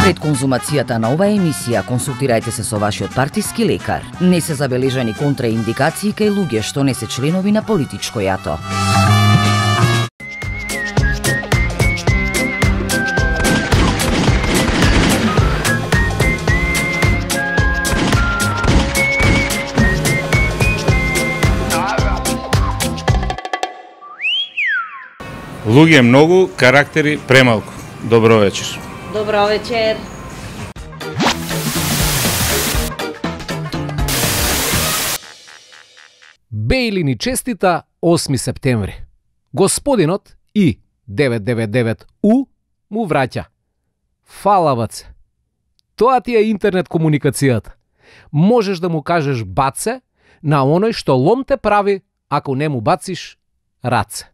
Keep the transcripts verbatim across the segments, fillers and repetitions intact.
Пред конзумацијата на оваа емисија консултирајте се со вашиот партиски лекар. Не се забележани контраиндикации кај луѓе што не се членови на политичко јато. Луѓе многу, карактери премалку. Добро вечер. Добро вечер. Бејли ни честита осми септември. Господинот и деветстотини деветдесет и девет У му враќа. Фала, баце. Тоа ти е интернет комуникацијата. Можеш да му кажеш баце на оној што лом те прави ако не му бациш раце.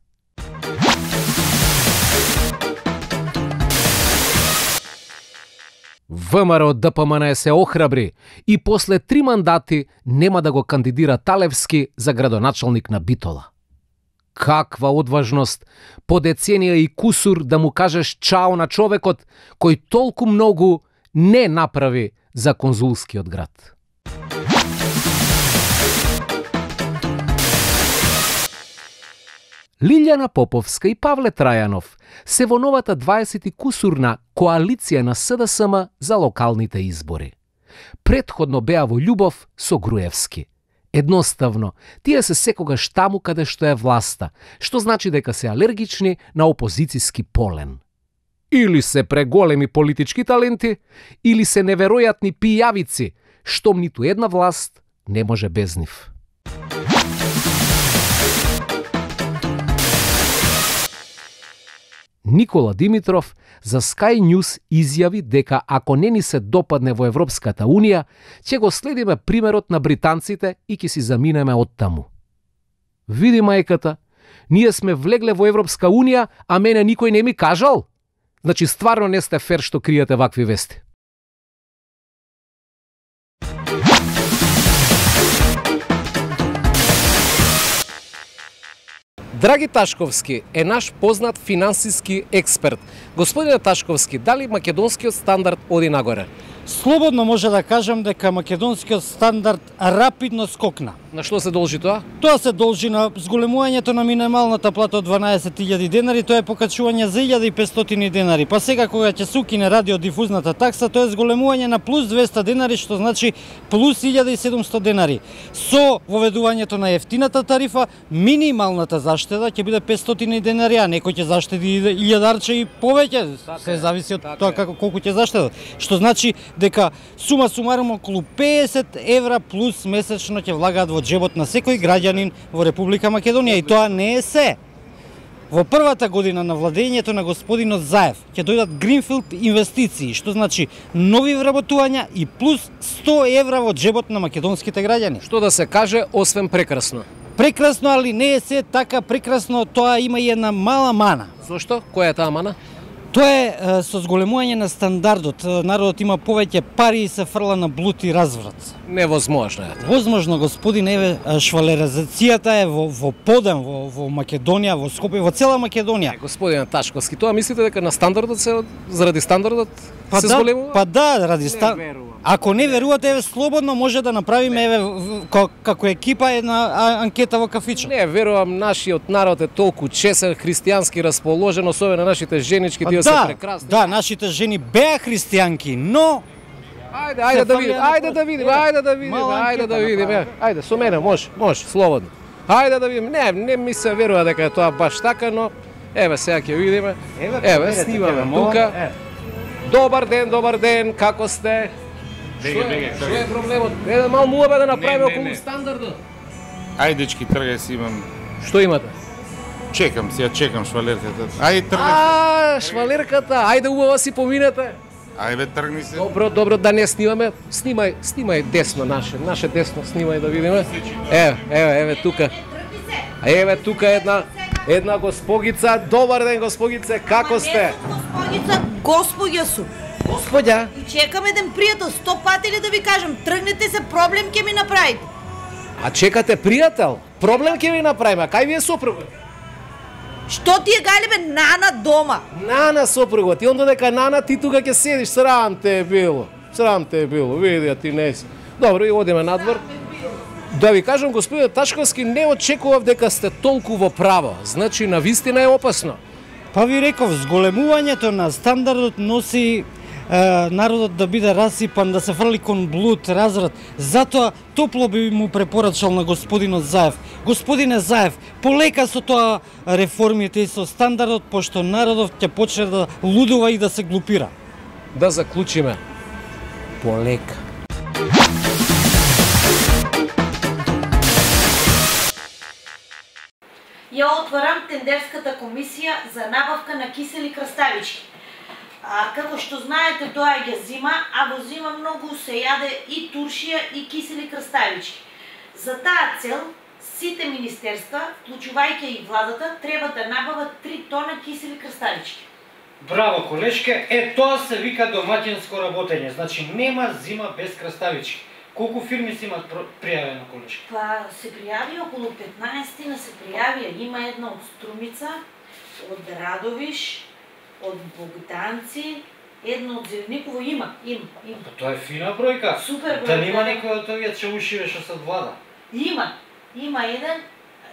ВМРО ДПМН се охрабри и после три мандати нема да го кандидира Талевски за градоначалник на Битола. Каква одважност по деценија и кусур да му кажеш чао на човекот кој толку многу не направи за конзулскиот град. Лилјана Поповска и Павле Трајанов се во новата дваесет и кусурна коалиција на СДСМ за локалните избори. Претходно беа во љубов со Груевски. Едноставно, тие се секогаш таму каде што е власта, што значи дека се алергични на опозицијски полен. Или се преголеми политички таленти, или се неверојатни пијавици, штом ниту една власт не може без нив. Никола Димитров за Sky News изјави дека ако не ни се допадне во Европската Унија, ќе го следиме примерот на британците и ќе си заминеме од таму. Види мајката, ние сме влегле во Европска Унија, а мене никој не ми кажал? Значи стварно не сте фер што криете вакви вести. Драги Ташковски е наш познат финансиски експерт. Господине Ташковски, дали македонскиот стандард оди нагоре? Слободно може да кажам дека македонскиот стандард рапидно скокна. На што се должи тоа? Тоа се должи на зголемувањето на минималната плата од дванаесет илјади денари, тоа е покачување за илјада и петстотини денари. Па сега кога ќе се укине радиодифузната такса, тоа е зголемување на плюс двеста денари, што значи плюс илјада и седумстотини денари. Со воведувањето на ефтината тарифа, минималната заштеда ќе биде петстотини денари, а некој ќе заштеди илјадарче и повеќе. Се зависи од тоа како колку ќе заштедат. Што значи дека сума сумарум околу песет евра плюс месечно ќе влагаат во джебот на секој граѓанин во Република Македонија, и тоа не е се. Во првата година на владењето на господинот Заев ќе дојдат гринфилд инвестиции, што значи нови вработувања и плюс сто евра во джебот на македонските граѓани. Што да се каже, освен прекрасно? Прекрасно, али не е се така прекрасно, тоа има и една мала мана. Зошто? Која е таа мана? Тоа е со зголемување на стандардот. Народот има повеќе пари и се фрла на блуд и разврат. Невозможно е. Возможно, господин, еве, швалеризацијата е во, во подем, во, во Македонија, во Скопје, во цела Македонија. Е, господине Ташковски, тоа мислите дека на стандардот се, заради стандардот па се да, зголемува? Па да, ради стандардот. Ако не верувате, еве, слободно може да направиме, еве, како екипа, една анкета во кафиче. Не, верувам, нашиот народ е толку чесен, христијански расположен, особено нашите женички, тие да, се прекрасни. Да, нашите жени беа христијанки, но Ајде, ајде да видиме, ајде да видиме, ајде да видиме, ајде да видиме. Ајде, со мене може, може, слободно. Ајде да видиме. Не, не ми се верува дека е тоа баш така, но еве сега ќе видиме. Еве, снимаме тука. Добар ден, добар ден, како сте? Беге, беге, Што е проблемот? Еден мал муабе да направиме околу стандардот. Ајде, дечки, тргај си, имам. Што имате? Чекам си, ја чекам швалерката. Ајде, тргај. А, швалерката, ајде убаво си поминете. Ајде, тргни се. Добро, добро, да не снимаме. Снимај, снимај десно наше, наше десно снимај да видиме. Еве, еве, еве тука. Еве тука една една госпогица. Добар ден, госпогице, како сте? Госпогица, господја су. Господја. И чекам еден пријател, сто пати ли да ви кажам, тргнете се, проблем ќе ми направите. А чекате пријател? Проблем ќе ви направиме, кај ви е сопругот? Што ти е галебе Нана дома? Нана сопруга, ти онда дека Нана ти тука ќе седиш, срам те е било. Срам те е било, види, а ти не си. Добро, и одиме надвор. Да ви кажам, господин Ташковски, не очекував дека сте толку во право. Значи, навистина е опасно. Па ви реков, зголемувањето на стандардот носи е, народот да биде расипан, да се фрли кон блуд, разрад. Затоа топло би му препорачал на господинот Заев. Господине Заев, полека со тоа реформите и со стандардот, пошто народот ќе почне да лудува и да се глупира. Да заклучиме. Полека. Ја отварам тендерската комисија за набавка на кисели краставички. А, како што знаете, тоа е ја зима, а во зима многу се јаде и туршија и кисели краставички. За таа цел, сите министерства, вклучувајќи и владата, треба да набават три тона кисели краставички. Браво, колешке, е тоа се вика домаќинско работење, значи нема зима без краставички. Колку фирми си имат пријавено, колешке? Па се пријави околу петнаесет на се пријавија. Има една од Струмица, од Радовиш, од Богданци, една од Зелениково има, има, има. Па тоа е фина бројка. Супер бројка. Да нема некој од овие чаушиве што се влада? Има, има еден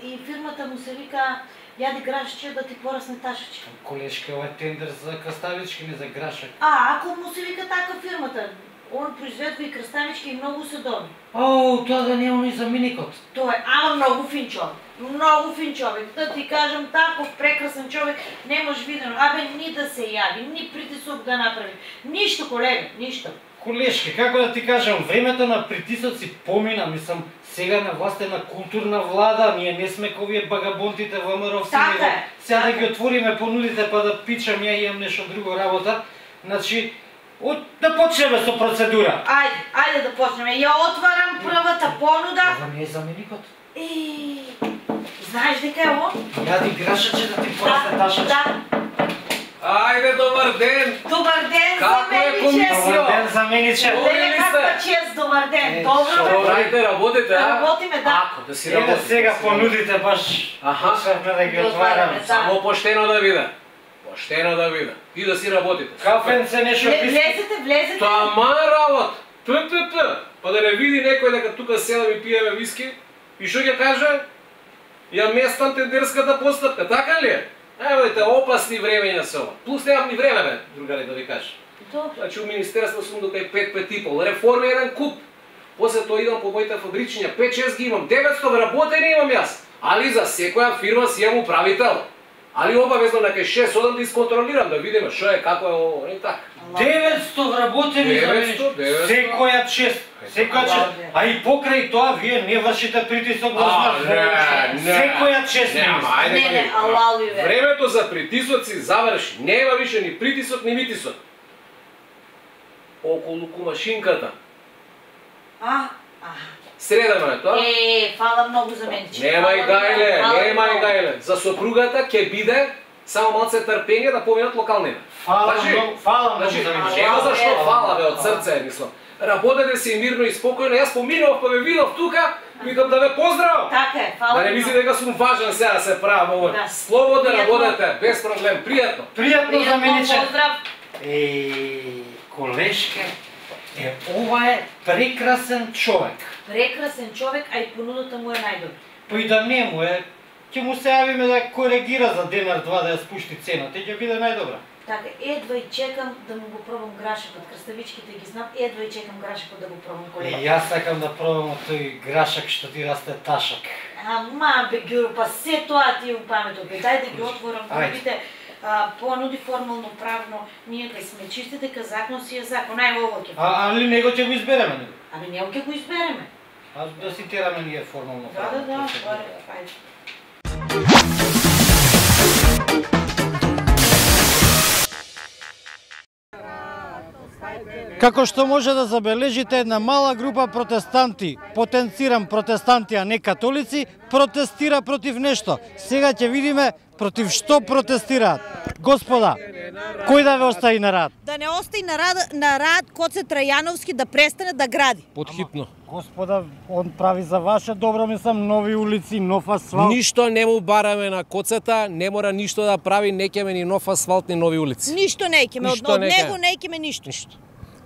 и фирмата му се вика Јади грашче да ти порасне ташачка. Колешке, ова е тендер за краставички, не за грашак. А, ако му се вика така фирмата, он произведува и краставички и многу се добри. О, тоа да не е оној за миникот. Тоа е, ама многу фин човек. Многу фин човек. Да ти кажам, таков прекрасен човек не може видено. Абе, ни да се јави, ни притисок да направи. Ништо, колега, ништо. Колешке, како да ти кажам, времето на притисоци помина, мислам, сега на власт е на културна влада, ние не сме ковие багабонтите ВМРО-вци, така е, сега така да ги отвориме понудите па да пичам, ја имам нешто друго работа. Значи, от, да почнеме со процедура. Ајде, ајде да почнеме. Ја отварам првата понуда. Ова не е за миникот. Е, знаеш дека е ово? Јади грашаче да ти порасне ташаче. Да. Ајде, добар ден! Добар ден, Како е замениче. комисија? Добар ден за мениче. Леле, каква чест, добар ден. Добро, Што бе. правите, работите, а? Работиме, да. Ако, да си Еве работите. сега понудите баш. Аха. Почнавме да ги Ги отвараме. отвараме, да. Само поштено да биде. Поштено да биде. И да си работите. Кафенце нешто Вле- писки. Влезете, влезете. Тама работа. П, п, п. Па да не види некој дека тука седам и пиеме виски. И што ќе каже? Ја местам тендерската постапка, така ли е? Евете, опасни времења се ова. Плюс немам ни време, бе, другари, да ви кажа. Добро. Значи, у Министерство сум до кај пет пет и пол. Реформи еден куп. После тоа идам по моите фабричиња. пет шест ги имам. деветсто вработени имам јас. Али за секоја фирма си имам управител. Али обавезно на кај шест седам да исконтролирам, да видиме што е, како е ово, и така. деветсто вработени за мене. деветсто, деветсто. Секоја чест. Секоја чест. А и покрај тоа вие не вршите притисок во А, знак. не, не. Секоја чест. Нема, ајде. Не, не, алалуи, бе. Времето за притисоци заврши. Нема више ни притисок, ни митисок. Околу кумашинката. А, а. Средано е тоа. Е, фала многу за мене. Нема и гајле, нема и гајле. За сопругата ќе биде само малце трпение да поминат локалните. Фала Значи, многу, фала многу Значи, за мене. нема зашто Ево. фала бе од срце, мислам. Работете си мирно и спокојно. Јас поминав па ме видов тука, викам да ве поздравам. Така е, фала. Да не ви мисли многу. дека сум важен сега да се правам ово. Да. Слободно Пријатно. работете, без проблем, пријатно. Пријатно за Пријатно, мене. поздрав. Е, колешке, е, ова е прекрасен човек. Прекрасен човек, а и понудата му е најдобра. Па и да не му е, ќе му се јавиме да коригира за денар-два да ја спушти цената и ќе биде најдобра. Така, едва и чекам да му го пробам грашакот. Краставичките ги знам, едва и чекам грашакот да го пробам, колега. И јас сакам да пробам од тој грашак што ти расте ташак. Ама, бе, Гюро, па се тоа ти е у паметот. Бе, дај да ги отворам, да Ајде. видите, а, понуди формално, правно, ние кај сме чисти дека закон си е закон. Ај, ово ќе. А, али него ќе го избереме него. Ами него ќе го избереме. А да си тераме ние формално. Да, да, да, процедура. ајде, ајде. Како што може да забележите, една мала група протестанти, потенцирам протестанти, а не католици, протестира против нешто. Сега ќе видиме против што протестираат. Господа, Кој да ве остави на рад? Да не остави на рад, на рад Коце Трајановски да престане да гради. Подхитно. Господа, он прави за ваше добро, мислам, нови улици, нов асфалт. Ништо не му бараме на Коцета, не мора ништо да прави, не ќеме ни нов асфалт, ни нови улици. Ништо не икеме, од, Ништо од не него ке. не икеме ништо. Ништо.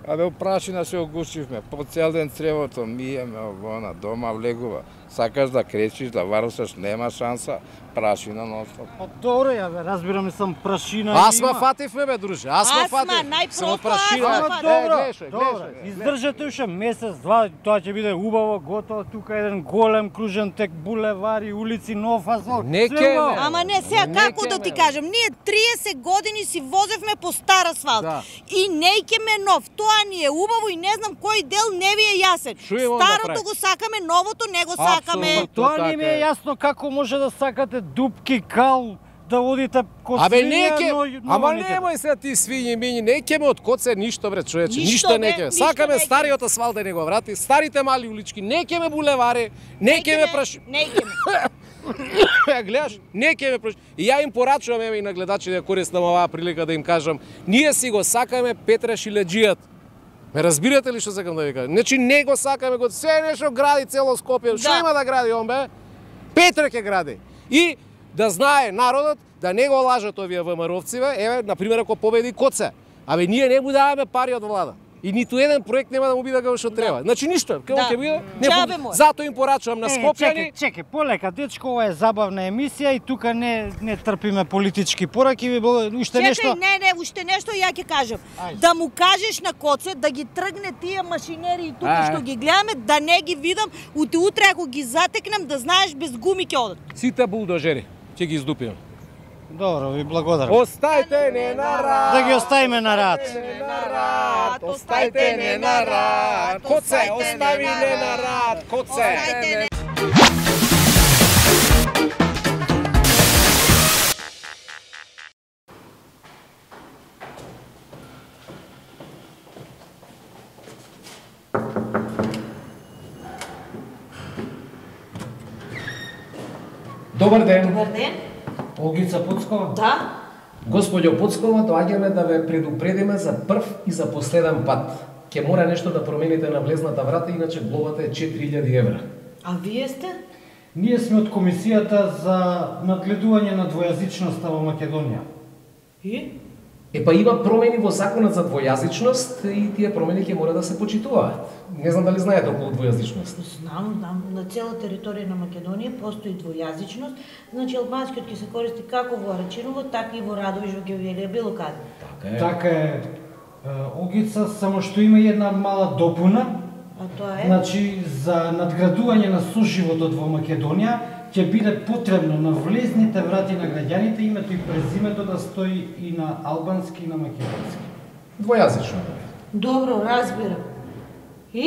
Абе, опрашина се огушивме, по цел ден цревото миеме, овона, дома влегува. Сакаш да кречиш, да варусаш, нема шанса, прашина нонстоп. Па добро, ја бе, разбирам, мислам, прашина Аз ма има. фативме бе, друже, аз ма Асма, фатив. најпросто Само прашина. асма. Ама Е, добро, гледаш, добро. гледаш, Издржате уште месец, два, тоа ќе биде убаво, готово, тука еден голем кружен тек, булевари, улици, нов асфалт. Не све ке, убаво. бе. Ама не, сега Не како да ке, ти бе. кажам, ние триесет години си возевме по стар асфалт. Да. И не икеме нов. Тоа ни е убаво и не знам кој дел не ви е јасен. Шо имам да Старото правим? го сакаме, новото не го сакаме. Апсолутно. Тоа Така не ми е. е јасно како може да сакате дупки, кал, да водите код Абе свинја, не ке, но- но ама никаде. немој сега ти свињи мињи, не ќеме од Коце ништо бре човече, Ништо, ништо не бе, ќеме. ништо Сакаме не ке. стариот асфалт да не го врати, старите мали улички, не ќеме булевари, не ќеме праш. Не икеме. Ја гледаш, не ке ме прош... И ја им порачувам еве и на гледачите да користам оваа прилика да им кажам, ние си го сакаме Петра Шиледжијат. Ме разбирате ли што сакам да ви кажам? Значи не го сакаме го се нешто гради цело Скопје. Што Да. има да гради он бе? Петра ќе гради. И да знае народот да не го лажат овие ВМРО-вци бе, еве на пример ако победи Коце. Абе ние не му даваме пари од влада. И ниту еден проект нема да му биде како што треба. Значи ништо, како Да. ќе биде? Не, Џабе по- му е. Затоа им порачувам на Е, Скопјани. чекај, чекај, полека, дечко, ова е забавна емисија и тука не не трпиме политички пораки, ви бл- уште Чекај, нешто. не, не, уште нешто ја ќе кажам. Ајде. Да му кажеш на Коце да ги тргне тие машинери и тука Ајде. што ги гледаме, да не ги видам, ути утре ако ги затекнем, да знаеш без гуми ќе одат. Сите булдожери ќе ги издупиме. Добро, ви благодарам. Остајте не на рад. Да ги оставиме на рад. Не на рад. Остајте не на рад. Коце, остави не на рад. Коце. Остајте не. Добар ден. Добар ден. Олгица Пуцкова? Да? Господјо Поцкова, доаѓаме да ве предупредиме за прв и за последен пат. Ќе мора нешто да промените на влезната врата, иначе глобата е четири илјади евра. А вие сте? Ние сме од комисијата за надгледување на двојазичноста во Македонија. И? Е па има промени во законот за двојазичност и тие промени ќе мора да се почитуваат. Не знам дали знаете околу двојазичност. Знам, знам, на цела територија на Македонија постои двојазичност, значи албанскиот ќе се користи како во Арачиново, така и во Радовиш, во Гевелија, било каде. Така е. Така е, е, Олгица, само што има и една мала допуна. А тоа е? Значи, за надградување на соживотот во Македонија ќе биде потребно на влезните врати на граѓаните името и презимето да стои и на албански и на македонски. Двојазично. Добро, разбирам. И?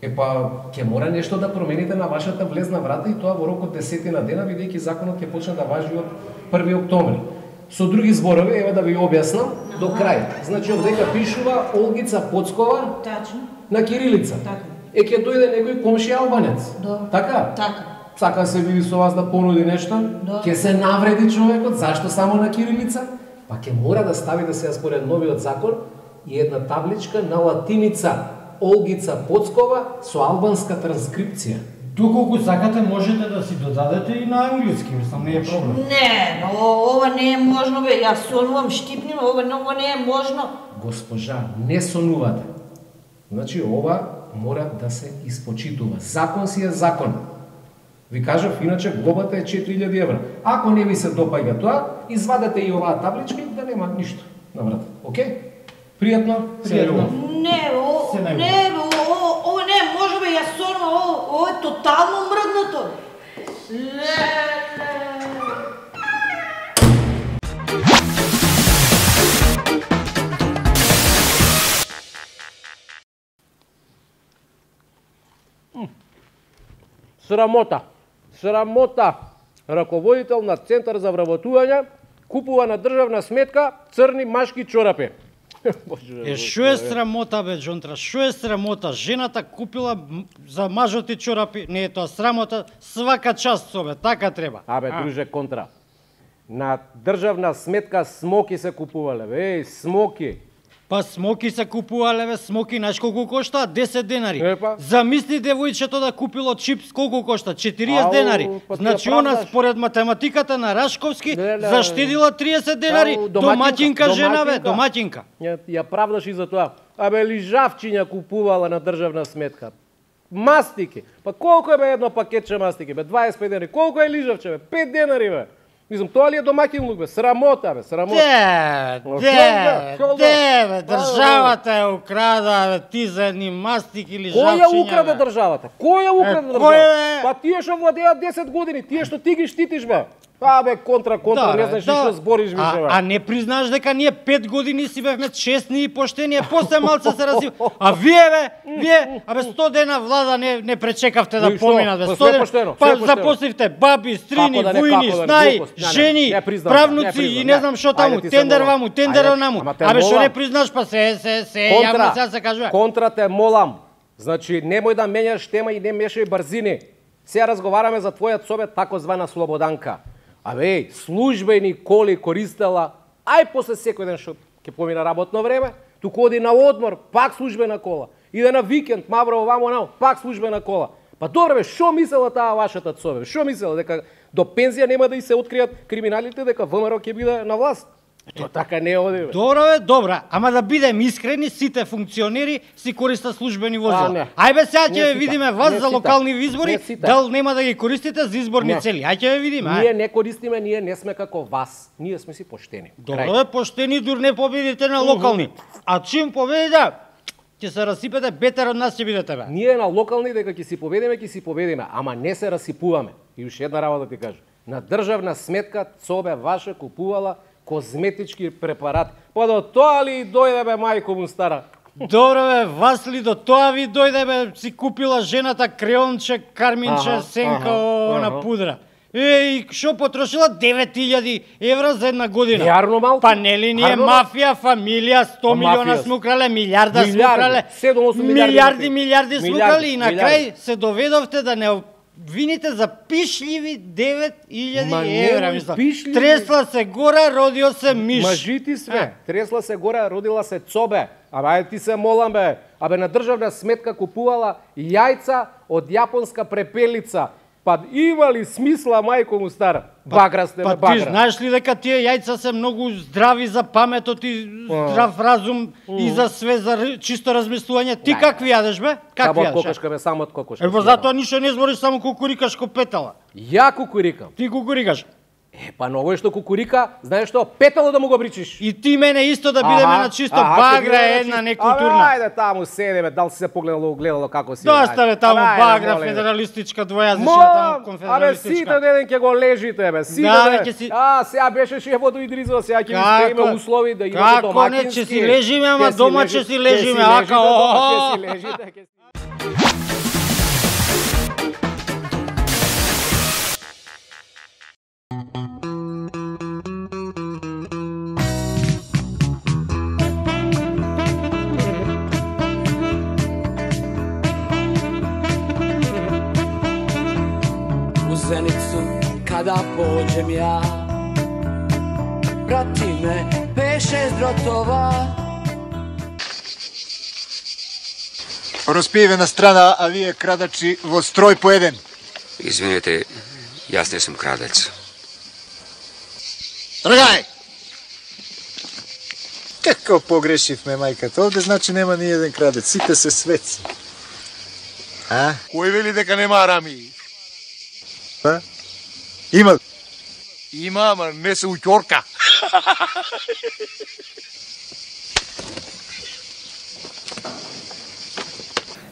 Е па, ќе мора нешто да промените на вашата влезна врата и тоа во рок од десетина дена, бидејќи законот ќе почне да важи од први октомври. Со други зборови, еве да ви објаснам, до крај. Значи, овдека пишува Олгица Поцкова Тачно. на кирилица. Така. Е, ќе дојде некој комшија албанец. Добро. Така? Така. Сака се види со вас да понуди нешто, Да. ќе се навреди човекот, зашто само на кирилица? Па ќе мора да стави да се според новиот закон и една табличка на латиница Олгица Поцкова со албанска транскрипција. Доколку сакате можете да си додадете и на англиски, мислам, не е проблем. Не, но ова не е можно, бе. Јас сонувам штипни, ова, ова не е можно. Госпожа, не сонувате. Значи, ова мора да се испочитува. Закон си е закон. Ви кажав, иначе глобата е четири илјади евра. Ако не ви се допаѓа тоа, извадете и оваа табличка и да нема ништо на врата. Окей? Пријатно? Пријатно. Не, о, Се најубаво. не, бе, ова, ова не е можно, бе. Јас сонувам, ова, ова е тотално мрднато. Ле, ле. Срамота. Срамота. Раководител на Центар за вработување купува на државна сметка црни машки чорапи. Боже, Е, шо е срамота, бе, Джонтра, шо е срамота? Жената купила м, за мажот и чорапи, не е тоа срамота, свака част собе, така треба. Абе, друже, контра. На државна сметка смоки се купувале, бе, еј, смоки. Па смоки се купувале, бе, смоки, знаеш колку кошта? десет денари. Епа. Замисли девојчето да купило чипс, колку кошта? четириесет Ау, денари. па ти Значи ја она правдаш. според математиката на Рашковски Не, не, заштедила триесет денари. Ау, Домаќинка, домаќинка, жена, бе, домаќинка. домаќинка. Ја, ја правдаш и за тоа. Абе, лижавчиња купувала на државна сметка. Мастики. Па колку е бе едно пакетче мастики, бе? дваесет и пет денари. Колку е лижавче, бе? пет денари, бе. Мислам, тоа ли е домаќинлук, бе? Срамота, бе, срамота. Де, Шо де, да, шо да? де, бе, државата е украда, бе, ти за едни мастики или Кој ја украде државата? Кој ја украде Е, кој државата? е? Па тие што владеат десет години, тие што ти ги штитиш, бе. Па бе, контра, контра, не знаеш што збориш више, бе. А, а не признаш дека ние пет години си бевме честни и поштени, а после малце се разив. А вие, бе, вие, абе сто дена влада не не пречекавте да И што? поминат, бе. Па сто све дена. поштено, Па све поштено. запосливте баби, стрини, Како да не, војни, како да не, снаи, глупост. Не, не, жени, не признам, не правнуци признам, и не не. знам што Ајде таму, ти се тендер молам. ваму, тендер Ајде, наму. ама те Абе што молам. не признаш, па се се се јавно сега се кажува. Контра те молам. Значи, немој да менјаш тема и не мешај брзини. Сега разговараме за твојот собет, такозвана Слободанка. Абе, еј, службени коли користела, ај после секој ден што ќе помина работно време, туку оди на одмор, пак службена кола. Иде на викенд, мавро овамо нао, пак службена кола. Па добре бе, што мислела таа вашата цове? Што мислела дека до пензија нема да и се откријат криминалите, дека ВМРО ќе биде на власт? Тоа така не оди, бе. Добро бе, добра, ама да бидем искрени, сите функционери си користат службени А, возила. не. Ајде сега Не ќе ве сите. видиме вас Не за сите. локални избори, Не сите. дал нема да ги користите за изборни Не. цели. Ајде ќе ве видиме, Ние ај. не користиме, ние не сме како вас. Ние сме си поштени. Добро бе, поштени дур не победите на локални. А чим победите, ќе се расипете, бетер од нас ќе бидете бе. Ние на локални дека ќе си победиме, ќе си победиме, ама не се расипуваме. И уште една работа да ти кажам. На државна сметка Цобе ваша купувала козметички препарати. Па до тоа ли дојде бе мајко му стара? Добро бе, вас ли до тоа ви дојде бе, си купила жената креонче, карминче, Аха, сенка, аха, на аха. пудра. Еј, што потрошила девет илјади евра за една година. Јарно малку. Па нели ние Арно, мафија, фамилија, сто Па милиона мафија. сме украле, милиарда сме Милиарди, украле. седум осум милиарди Милиарди, мафија. милиарди сме Милиарди, украли и на милиарди. крај се доведовте да не вините за пишливи девет илјади Ма евра, немој мислам. пишливи. Тресла се гора, родио се миш. Мажити све. Тресла се горе, родила се Цобе. Абе, ајде ти се молам бе. Абе, на државна сметка купувала јајца од јапонска препелица. Па има ли смисла, мајко му стара? Багра сте, Па бе, ти багра. знаеш ли дека тие јајца се многу здрави за паметот и здрав разум и за све, за р- чисто размислување? Ти какви јадеш бе? Какви Само од јадеш? кокошка, бе, само од кокошка. Е, па затоа ништо не збориш, само кукурикаш ко петала. Ја кукурикам. Ти кукурикаш. Е, па на овој што кукурика, знаеш што, петало да му го бричиш. И ти мене исто да бидеме на чисто, аха, ќе багра бидеме е на една чисто. некултурна. Абе, ајде таму седе, бе, дал си се погледало, огледало како си. Доста бе таму Ајде, багра, молим. федералистичка, двојазична, Молам, таму абе, конфедералистичка. сите ден ќе го лежите, бе, сите Да, бе, ден. ќе си- А, сега беше шефот до Идризова, сега ќе ви Како? спреме услови да имате Како домакински. не, ќе си лежиме, ама Ќе си дома лежи- ќе си ќе лежиме, си ака, лежите дома, о, ќе си лежите, ќе си- U Zenicu kada pođem ja, prati me pet šest drotova. Распиевена страна, а вие крадачи во строј по еден. Извинете, јас не сум крадец. Тргај! Како погрешивме, мајката? Овде значи нема ни еден крадец, сите се светци. А? Кој вели дека нема арами? Па? Има. Има, ама не се уќорка.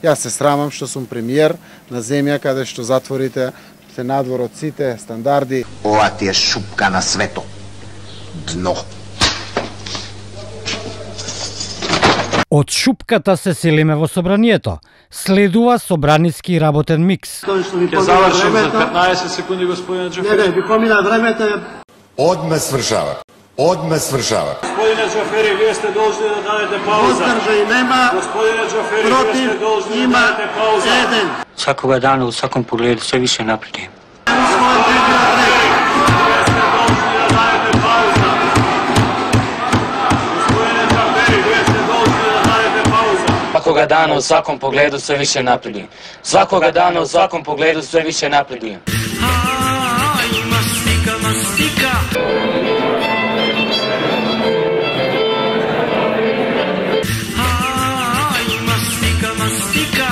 Јас се срамам што сум премиер на земја каде што затворите се надвор од сите стандарди. Ова ти е шупка на свето. Дно. Од шупката се селиме во собранието. Следува собраниски работен микс. Ќе завршим за петнаесет секунди, господине Джофери. Не, не, ви помина времето. Одме свршава. Одме свршава. Господине Джофери, вие сте должни да дадете пауза. Воздржај нема. Господине Джофери, вие Против сте должни има да дадете пауза. еден. Свакога дана, у сваком погледу, се више напредим. Вие сте должни да дадете Свакога дана у сваком погледу sve više napredujem. Svakoga dana u svakom pogledu sve više napredujem. Mastika, mastika. Mastika, mastika.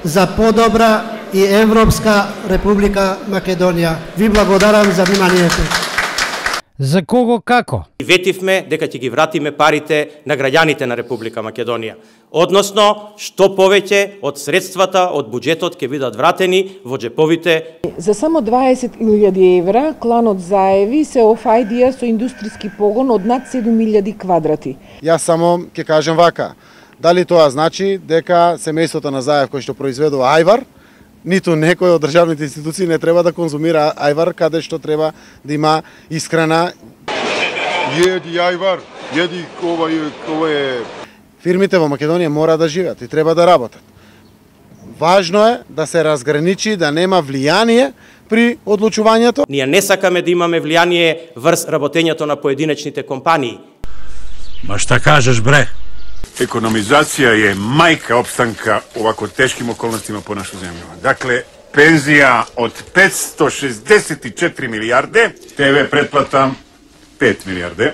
За подобра и Европска Република Македонија. Ви благодарам за вниманието. За кого како? Ветивме дека ќе ги вратиме парите на граѓаните на Република Македонија. Односно, што повеќе од средствата од буџетот ќе бидат вратени во џеповите. За само дваесет илјади евра кланот заеви се офајдија со индустријски погон од над седум илјади квадрати. Јас само ќе кажем вака. Дали тоа значи дека семејството на Заев кој што произведува ајвар, ниту некој од државните институции не треба да конзумира ајвар каде што треба да има исхрана. Једи ајвар, једи ова ова е. Фирмите во Македонија мора да живеат и треба да работат. Важно е да се разграничи, да нема влијание при одлучувањето. Ние не сакаме да имаме влијание врз работењето на поединечните компании. Ма шта кажеш, бре? Економизација е мајка опстанка овако тешким околностима по нашу земја. Дакле, пензија од петсто шесдесет и четири милијарде, ТВ претплата пет милијарде.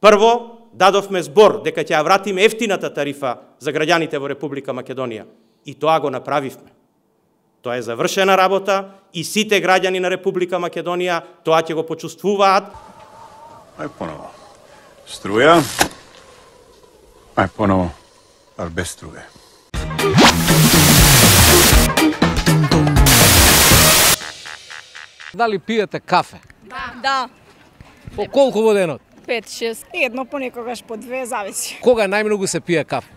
Прво, дадовме збор дека ќе ја вратиме ефтината тарифа за граѓаните во Република Македонија. И тоа го направивме. Тоа е завршена работа и сите граѓани на Република Македонија тоа ќе го почувствуваат. Ај поново. Струја. Ај поново, ал без струја. Дали пиете кафе? Да. Да. По колку во денот? пет шест. Едно понекогаш по две зависи. Кога најмногу се пие кафе?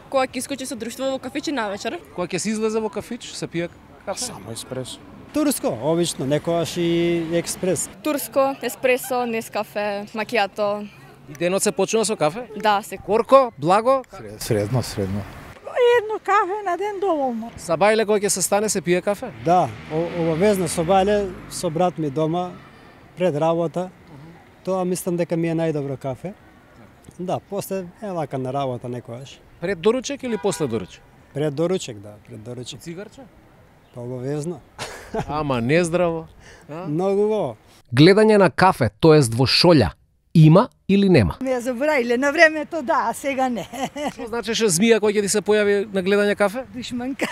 Кога ќе искочи со друштво во кафичи навечер. Кога ќе се излезе во кафич, се пие кафе? Само еспресо. Турско, обично, некојаш и експрес. Турско, еспресо, нескафе, макијато. И денот се почнува со кафе? Да, се. Корко, благо? Средно, средно. Едно кафе на ден доволно. Са бајле кога ќе се стане се пие кафе? Да, обавезно со бајле, со брат ми дома, пред работа. Тоа мислам дека ми е најдобро кафе. Да, после е лака на работа некојаш. Пред доручек или после доручек? Пред доручек, да, пред доручек. Цигарче? Па обавезно. Ама не здраво. Многу во. Гледање на кафе, тоест во шолја, има или нема? Ме забравиле на времето, да, а сега не. Што значеше змија кој ќе ти се појави на гледање кафе? Душманка.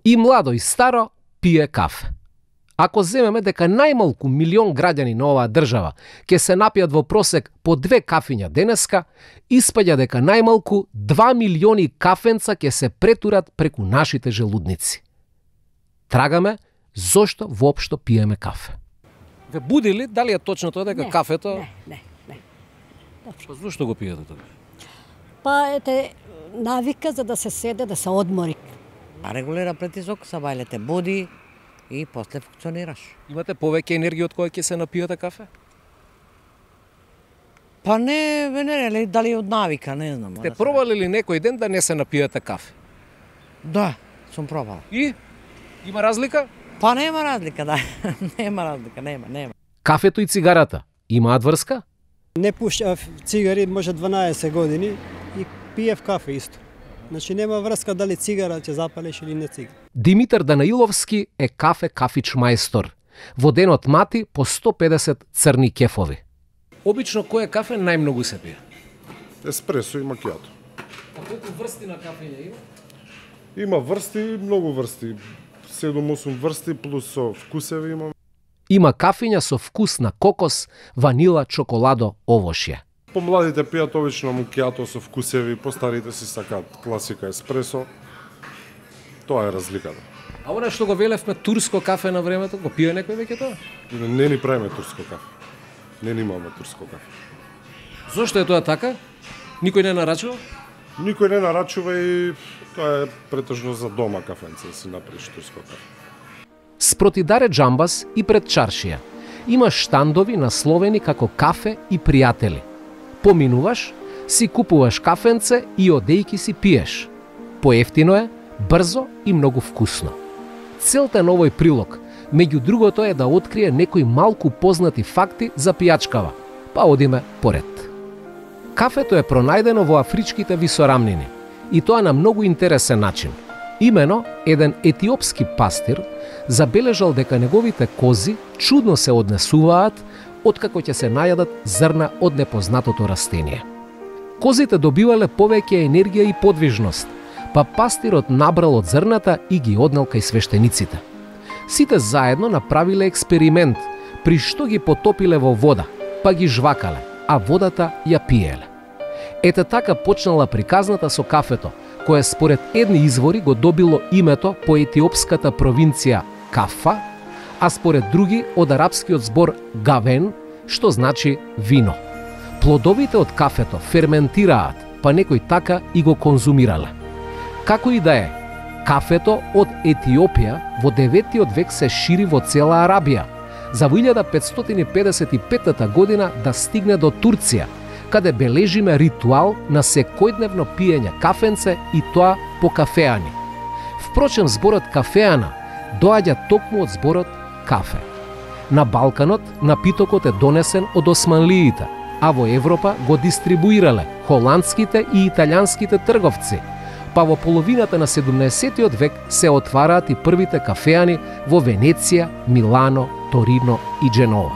И младо и старо пие кафе. Ако земеме дека најмалку милион граѓани на оваа држава ќе се напијат во просек по две кафиња денеска, испаѓа дека најмалку два милиони кафенца ќе се претурат преку нашите желудници. Трагаме зошто воопшто пиеме кафе. Ве буди ли дали е точно тоа дека не, кафето? Не, не, не. Па зошто го пиете тоа? Па ете навика за да се седе, да се одмори. А регулира притисок, са бајлете буди и после функционираш. Имате повеќе енергија од која ќе се напиете кафе? Па не, не, не, дали од навика, не знам. Те пробали ли некој ден да не се напиете кафе? Да, сум пробал. И? Има разлика? Па нема разлика, да. Нема разлика, нема, нема. Кафето и цигарата имаат врска? Не пушав цигари може дванаесет години и пиев кафе исто. Значи нема врска дали цигара ќе запалиш или не цигара. Димитар Данаиловски е кафе кафич мајстор. Во денот мати по сто педесет црни кефови. Обично кој кафе најмногу се пие? Еспресо и макијато. А колку врсти на кафење има? Има врсти, многу врсти. седум-осум врсти плюс со вкусеви имам. Има кафења со вкус на кокос, ванила, чоколадо, овошје. Помладите пијат обично макијато со вкусеви, постарите си сакаат класика еспресо. Тоа е разликата. А она што го велевме турско кафе на времето, го пие некој веќе тоа? Не ни правиме турско кафе. Не ни имаме турско кафе. Зошто е тоа така? Никој не нарачува? Никој не нарачува и тоа е претежно за дома кафенце, да си направиш турско кафе. Спроти Даре Джамбас и пред чаршија има штандови насловени како кафе и пријатели. Поминуваш, си купуваш кафенце и одејки си пиеш. Поевтино е, брзо и многу вкусно. Целта на овој прилог, меѓу другото, е да открие некои малку познати факти за пијачкава, па одиме поред. Кафето е пронајдено во афричките висорамнини, и тоа на многу интересен начин. Имено, еден етиопски пастир забележал дека неговите кози чудно се однесуваат откако ќе се најадат зрна од непознатото растение. Козите добивале повеќе енергија и подвижност, па пастирот набрал од зрната и ги однел кај свештениците. Сите заедно направиле експеримент, при што ги потопиле во вода, па ги жвакале, а водата ја пиеле. Ете така почнала приказната со кафето, кое според едни извори го добило името по етиопската провинција Кафа, а според други од арапскиот збор гавен, што значи вино. Плодовите од кафето ферментираат, па некој така и го конзумирале. Како и да е, кафето од Етиопија во деветиот век се шири во цела Арабија, за во илјада петстотини педесет и петта година да стигне до Турција, каде бележиме ритуал на секојдневно пиење кафенце и тоа по кафеани. Впрочем, зборот кафеана доаѓа токму од зборот кафе. На Балканот напитокот е донесен од османлиите, а во Европа го дистрибуирале холандските и италијанските трговци, па во половината на седумнаесеттиот век се отвараат и првите кафеани во Венеција, Милано, Торино и Дженова.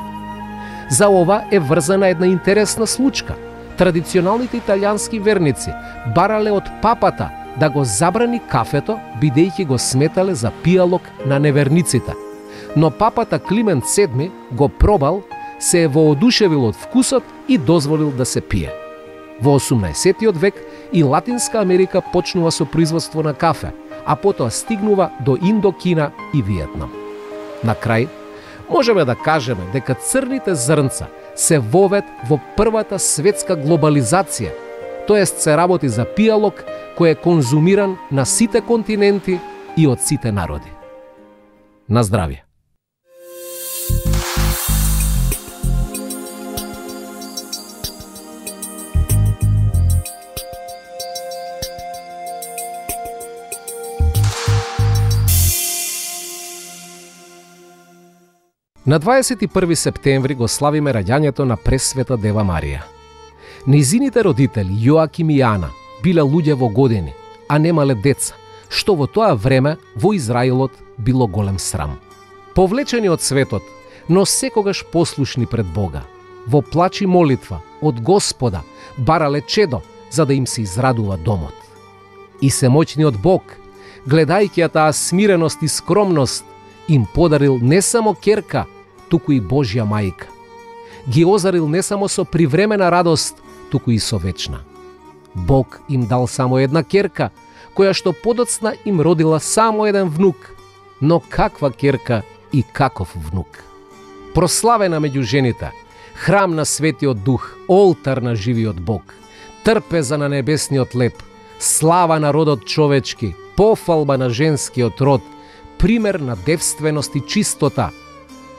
За ова е врзана една интересна случка. Традиционалните италијански верници барале од папата да го забрани кафето, бидејќи го сметале за пијалок на неверниците. Но папата Климент седми го пробал, се е воодушевил од вкусот и дозволил да се пие. Во осумнаесеттиот век и Латинска Америка почнува со производство на кафе, а потоа стигнува до Индокина и Виетнам. На крај, можеме да кажеме дека црните зрнца се вовед во првата светска глобализација, тоест се работи за пијалок кој е конзумиран на сите континенти и од сите народи. На здравје! На дваесет и први септември го славиме раѓањето на Пресвета Дева Марија. Нејзините родители Јоаким и Ана биле луѓе во години, а немале деца, што во тоа време во Израилот било голем срам. Повлечени од светот, но секогаш послушни пред Бога, во плач и молитва од Господа барале чедо за да им се израдува домот. И семоќниот Бог, гледајќи ја таа смиреност и скромност, им подарил не само керка, туку и Божја мајка. Ги озарил не само со привремена радост, туку и со вечна. Бог им дал само една керка, која што подоцна им родила само еден внук, но каква керка и каков внук. Прославена меѓу жените, храм на Светиот Дух, олтар на живиот Бог, трпеза на небесниот леп, слава на родот човечки, пофалба на женскиот род, пример на девственост и чистота.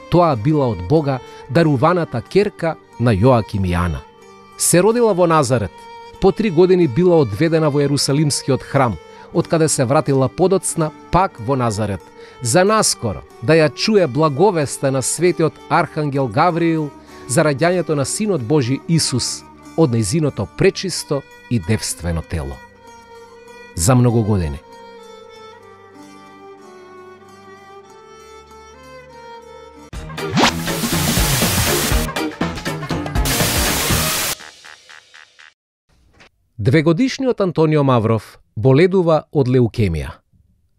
Тоа била од Бога даруваната керка на Јоаким и Ана. Се родила во Назарет, по три години била одведена во Ерусалимскиот храм, од каде се вратила подоцна пак во Назарет, за наскоро да ја чуе благовеста на светиот архангел Гавриил за раѓањето на Синот Божи Исус од нејзиното пречисто и девствено тело. За многу години. Двегодишниот Антонио Мавров боледува од леукемија.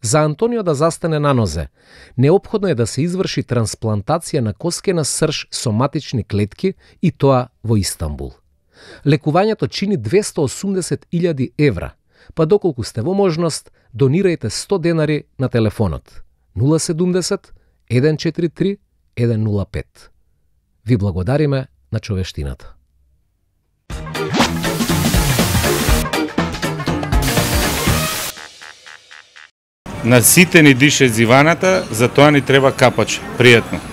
За Антонио да застане на нозе, неопходно е да се изврши трансплантација на коскена срж соматични клетки и тоа во Истанбул. Лекувањето чини двесте и осумдесет илјади евра, па доколку сте во можност, донирајте сто денари на телефонот нула седумдесет еден четири три еден нула пет. Ви благодариме на човештината. На сите ни дише зиваната, затоа ни треба капач. Пријатно.